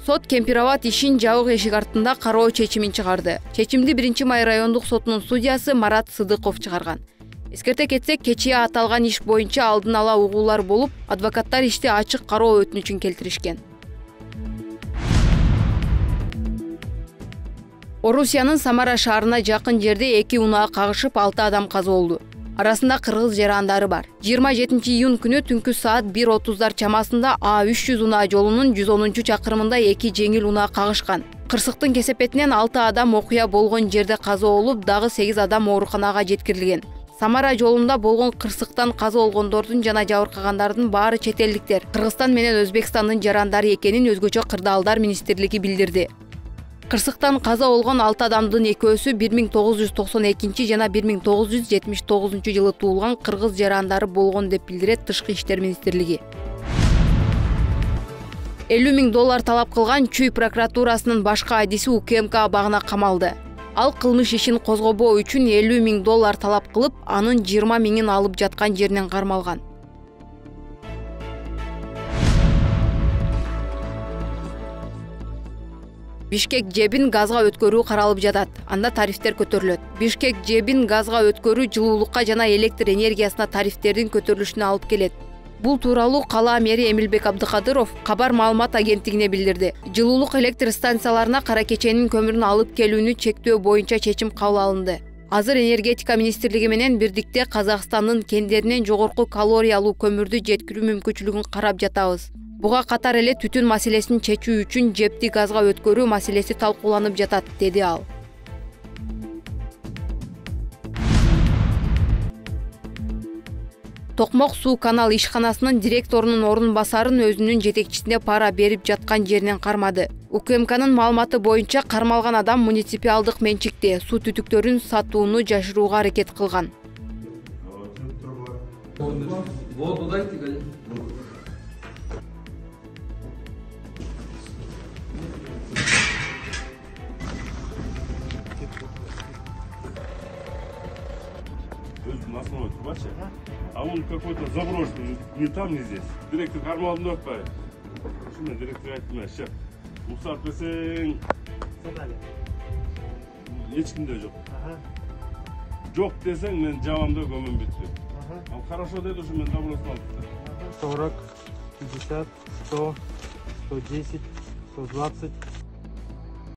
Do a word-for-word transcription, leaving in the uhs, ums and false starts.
Сот Кемпирабад ишин жабык эшик артында кароо чечимин чыгарды. Чечимди биринчи май райондук сотунун судьясы Марат Сыдыков чыгарган. Эскерте кетсек, кечээ аталган иш боюнча алдын ала угуулар болуп, адвокаттар ишти ачык кароо өтүнүчүн келтиришкен. Орусиянын Самара шаарына жакын жерде эки унаа кагышып, алты адам каза болду. Арасында кыргыз жарандары бар. жыйырма жетинчи июнь күнү түнкү саат бир отуздар чамасында А үч жүз унаа жолунун жүз онунчу чакырымында эки жеңил унаа кагышкан. Кырсыктын кесепетинен алты адам окуя болгон жерде каза болуп, дагы сегиз адам ооруканага жеткирилген. Самара жолунда болгон кырсыктан каза болгондордун жана жабыркагандардын баары чет элдиктер. Кыргызстан менен Өзбекстандын жарандары экенин өзгөчө кырдаалдар министрлиги билдирди. Кырсыктан каза болгон алты адамдын экөөсү бир миң тогуз жүз токсон экинчи жана бир миң тогуз жүз жетимиш тогузунчу жылы туулган кыргыз жарандары болгон деп билдирет Тышкы иштер министрлиги. элүү миң доллар талап кылган Чүй прокуратурасынын башкы адиси У К М К абагына камалды. Ал кылмыш ишин козгобоо үчүн элүү миң доллар талап кылып, анын жыйырма миңин алып жаткан жеринен кармалган. Бишкек жебин газга өткөрүү каралып жатат. Анда тарифтер көтөрүлөт. Бишкек жебин газга өткөрүү жылуулукка жана электр энергиясына тарифтердин көтөрүлүшүнө алып келет. Бул тууралуу кала мэри Эмилбек Абдыкадыров кабар маалымат агенттигине билдирди. Жылуулук электр станцияларына кара кеченин көмүрүн алып келүүнү чектөө боюнча чечим кабыл алынды. Азыр энергетика министрлиги менен бирдикте Казакстандын кендеринен жогорку калориялуу көмүрдү жеткирүү мүмкүнчүлүгүн карап жатабыз. Буга катар эле түтүн маселесин чечүү үчүн жепти газга өткөрүү маселеси талкууланып жатат, деди ал. Токмок суу канал ишканасынын директорунун орун басарын өзүнүн жетекчисине пара берип жаткан жеринен кармады. У К М К'нын маалыматы боюнча кармалган адам муниципалдык менчикте суу түтүктөрүн сатууну жашырууга аракет кылган. Основной трубача, а он какой-то заброшенный, не там, не здесь. Директор кармал вновь пай. Шуна директор айтмай, шеф. Мусар песен. Ешкимде жок. Жок десең, мен жабамда көмүм бүттү. Ал хорошо деди, ушу мен забросын алып. сорок, пятьдесят, сто, сто десять, сто двадцать.